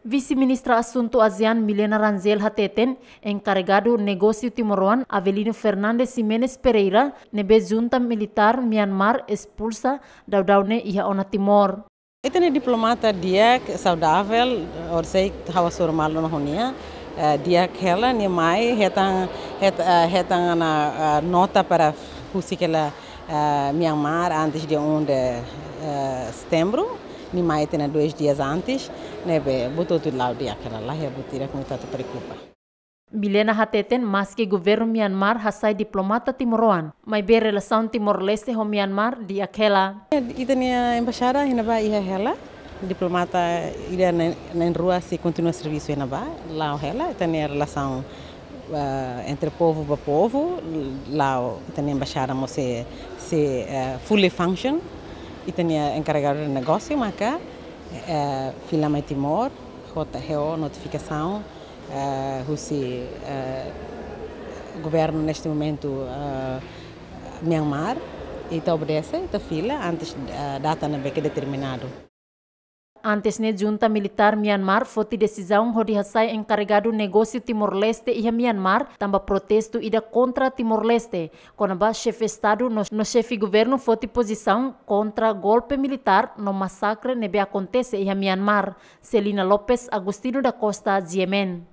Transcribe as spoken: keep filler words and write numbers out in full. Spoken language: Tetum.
Vise-Ministra Asuntu ASEAN Milena Rangel hateten, enkaregadu negósiu timoroan Avelino Fernandes Ximenes Pereira, ne'ebé junta militár Myanmar espulsa, daudaun ne'e iha ona Timor. Ita-nia diplomata di'ak, saudavel, orsida ha'u hasoru malu ona ho nia, eh, di'ak hela, nia mai hetan, het-, eh, hetan ona, eh, nota para husik hela, eh, Myanmar antes dia um de, eh, setembro, nia mai ita-nia dois dias antes, ne'ebé buat hotu la'o di'ak hela, laiha buat ida ne'ebé ita atu preokupa. Milena hateten, maski governu Myanmar hasai diplomata timoroan, maibé relasaun Timor-Leste ho Myanmar di'ak hela. Ita-nia embaixada iha ne'ebá iha hela, diplomata ida na'in, na'in-rua sei kontinua servisu iha ne'ebá, la'o hela, ita-nia relasaun, eh, entre povu ba povu, la'o ita-nia embaixada mós sei, sei, eh, fully function, ita-nia enkaregadu negósiu maka, eh, fila mai Timor, hota heo notifikasaun, eh, husi, eh, governu neste momentu, eh, Myanmar, ita obedese, ita fila antes, eh, data ne'ebé ke determinadu. Antes ne'e junta militár Myanmar foti desizaun hodi hasai enkaregadu negósiu Timor-Leste iha Myanmar, tanba protestu ida kontra Timor-Leste, kona-ba xefe Estadu no, no xefe governu foti pozisaun kontra golpe militár no masakre ne'ebé akontese iha Myanmar. Celina Lopes, Agostinho da Costa, G M N.